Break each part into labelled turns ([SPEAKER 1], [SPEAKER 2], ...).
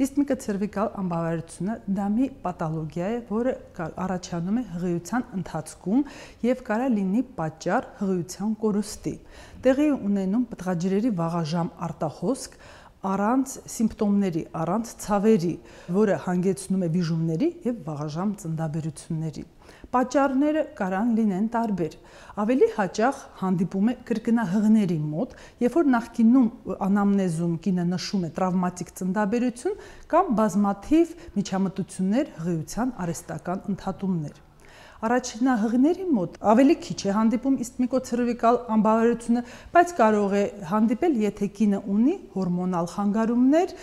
[SPEAKER 1] Իսթմիկը ցերվիկալ անբավարարությունը դա մի պաթոլոգիա է, որը առաջանում է հղիության ընթացքում եւ կարա լինի պատճառ հղիության կորուստի։ Տեղի ունենում պտղաջրերի վաղաժամ արտահոսք առանց սիմպտոմների, առանց ցավերի, որը հանգեցնում է վիժումների եւ վաղաժամ ծննդաբերությունների։ Պատճառները կարան լինեն տարբեր։ Ավելի հաճախ հանդիպում է կրկնահղների մոտ, երբ որ նախկինում անամնեզում կինը նշում է տրավմատիկ ծննդաբերություն կամ բազմաթիվ միջամտություններ, հղիության արհեստական ընդհատումներ։ Առաջնահղների մոտ ավելի քիչ է հանդիպում իսթմիկոցերվիկալ անբավարարությունը, բայց կարող է հանդիպել, եթե կինը ունի հորմոնալ խանգարումներ,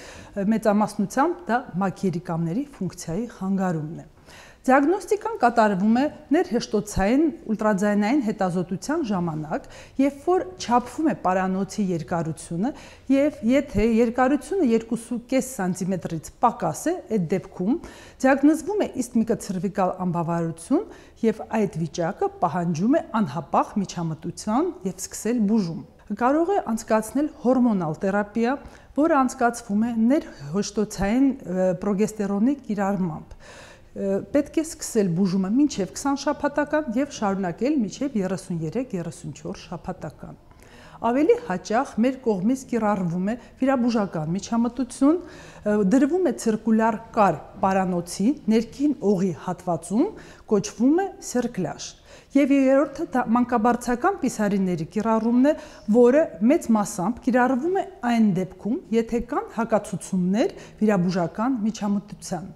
[SPEAKER 1] մեծամասնությամբ դա մակերիկամների ֆունկցիայի խանգարումն է։ Դիագնոստիկան կատարվում է ներհեշտոցային ուլտրաձայնային հետազոտության ժամանակ, երբ որ չափվում է պարանոցի երկարությունը եւ եթե երկարությունը 2.5 սանտիմետրից պակաս է, այդ դեպքում դիագնոզվում է իսթմիկոցերվիկալ անբավարարություն եւ այդ վիճակը պահանջում է անհապաղ միջամտության եւ սկսել բուժում։ Կարող է անցկացնել հորմոնալ թերապիա, որը անցկացվում է ներհեշտոցային պրոգեստերոնի կիրառմամբ։ Պետք է սկսել բուժումը մինչև 20 շաբաթական եւ շարունակել մինչև 33-34 շաբաթական։ Ավելի հաճախ մեր կողմից կիրառվում է վիրաբուժական միջամտություն, դրվում է ցիրկուլյար կար պարանոցի ներքին օղի հատվածում, կոչվում է սերկլաժ։ Եվ երրորդը դա մանկաբարձական պիսարիների կիրառումն է, որը մեծ մասամբ կիրառվում է այն դեպքում, եթե կան հակացություններ վիրաբուժական միջամտության։